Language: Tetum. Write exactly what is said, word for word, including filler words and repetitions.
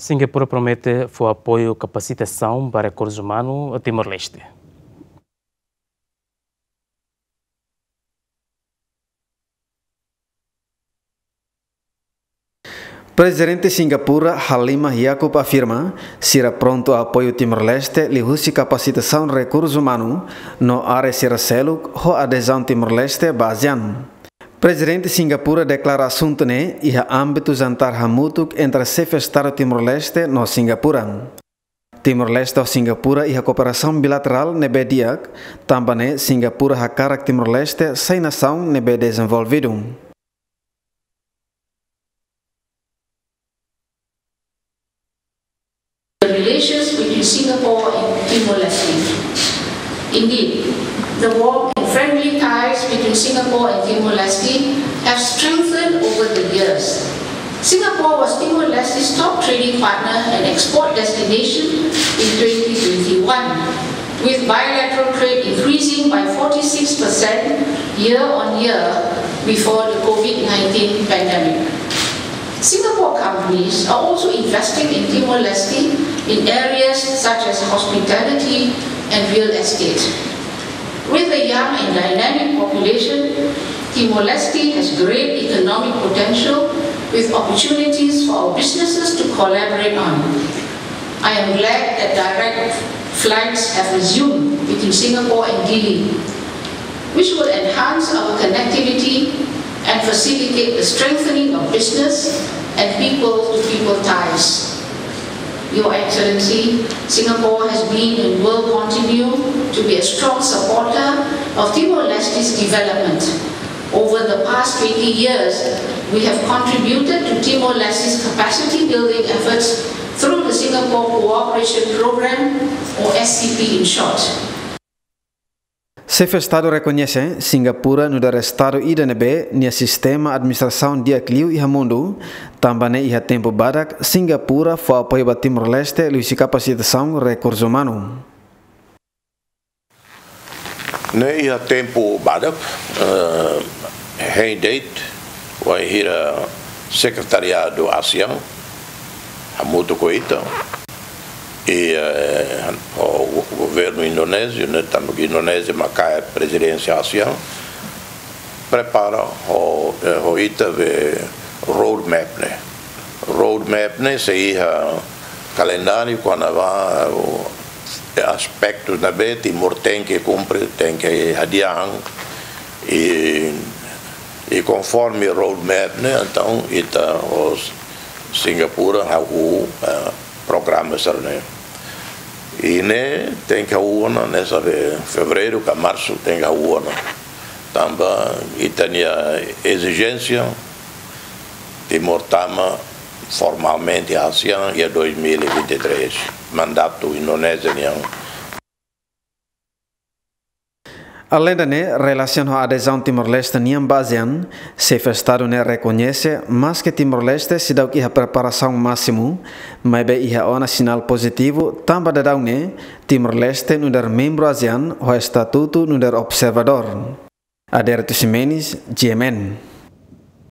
Singapura promete fó apoiu kapasitasaun ba rekursu umanu Timor-Leste. Prezidente Singapura, Halimah Yacob afirma, sira prontu apoiu Timor-Leste liuhusi kapasitasaun rekursu umanu no área sira seluk ho adezaun Timor-Leste ba ASEAN. Prezidente Singapura deklara asuntu ne'e iha ámbitu jantar hamutuk entre xefe Estadu Timor-Leste no Singapura. Timor-Leste ho Singapura iha kooperasaun bilaterál ne'ebé di'ak, tanba ne'e Singapura hakarak Timor-Leste sai nasaun ne'ebé dezenvolvidu. The relations between Singapore and Timor-Leste. Indeed, the warm and friendly ties between Singapore and Timor-Leste have strengthened over the years. Singapore was Timor-Leste's top trading partner and export destination in twenty twenty-one, with bilateral trade increasing by forty-six percent year on year before the COVID nineteen pandemic. Singapore companies are also investing in Timor-Leste in areas such as hospitality and real estate. With a young and dynamic population, Timor-Leste has great economic potential with opportunities for our businesses to collaborate on. I am glad that direct flights have resumed between Singapore and Dili, which will enhance our connectivity and facilitate the strengthening of business and people-to-people ties. Your Excellency, Singapore has been and will continue to be a strong supporter of Timor-Leste's development. Over the past twenty years, we have contributed to Timor-Leste's capacity building efforts through the Singapore Cooperation Program, or S C P in short. Xefe Estadu rekoñese Singapura nu'udar Estadu ida ne'ebé nia sistema administrasaun di'ak liu iha mundu, tanba ne'e iha tempu badak Singapura fó apoiu ba Timor-Leste liuhusi kapasitasaun rekursu umanu. Ne'e iha tempu badak, eh, hein de'it, wainhira Sekretariadu ASEAN hamutuk ho ita, i, eh, ho governu indonéziu, ne'e tanba Indonézia mak kaer prezidénsia ASEAN, prepara ho, eh, ho ita be roadmap ne'e. Roadmap ne'e sei iha kalendáriu kona-ba, o, aspektu ne'ebé Timor tenke kumpre, tenke hadi'a an, i, i konforme roadmap ne'e, entaun ita ho Singapura hahú, eh, programa sira-ne'e. I ne'e tenke hahú ona, ne'e sabe, fevereiru ka marsu tenke hahú ona. Tanba ita-nia ezijénsia, Timor tama formalmente ASEAN iha dois mil e vinte e três, mandatu Indonézia nian. Alende ne'e, relasiona ho adezaun Timor-Leste nian ba ASEAN, Xefe Estadu ne'e rekoñese, maske Timor-Leste seidauk iha preparasaun másimu, maibé iha ona sinál pozitivu, tanba daudaun ne'e, Timor-Leste nu'udar membru ASEAN, ho estatutu nu'udar observadór. Adérito Ximenes, G M N.